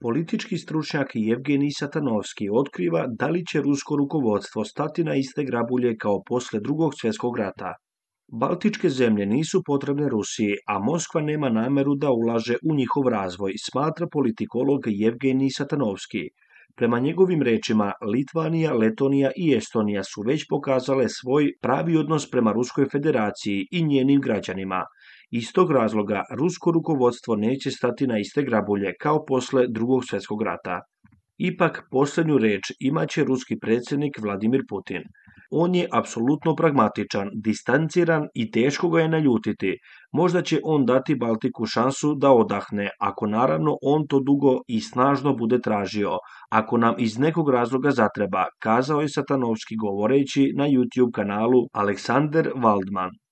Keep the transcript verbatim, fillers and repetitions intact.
Politički stručnjak Jevgenij Satanovski otkriva da li će rusko rukovodstvo stati na iste grabulje kao poslije Drugog svjetskog rata. Baltičke zemlje nisu potrebne Rusiji, a Moskva nema namjeru da ulaže u njihov razvoj, smatra politikolog Jevgenij Satanovski. Prema njegovim rečima, Litvanija, Letonija i Estonija su već pokazale svoj pravi odnos prema Ruskoj federaciji i njenim građanima. Iz tog razloga, rusko rukovodstvo neće stati na iste grabulje kao posle Drugog svjetskog rata. Ipak, posljednju riječ imat će ruski predsjednik Vladimir Putin. On je apsolutno pragmatičan, distanciran i teško ga je naljutiti. Možda će on dati Baltiku šansu da odahne, ako naravno on to dugo i snažno bude tražio, ako nam iz nekog razloga zatreba, kazao je Satanovski govoreći na YouTube kanalu Aleksander Waldman.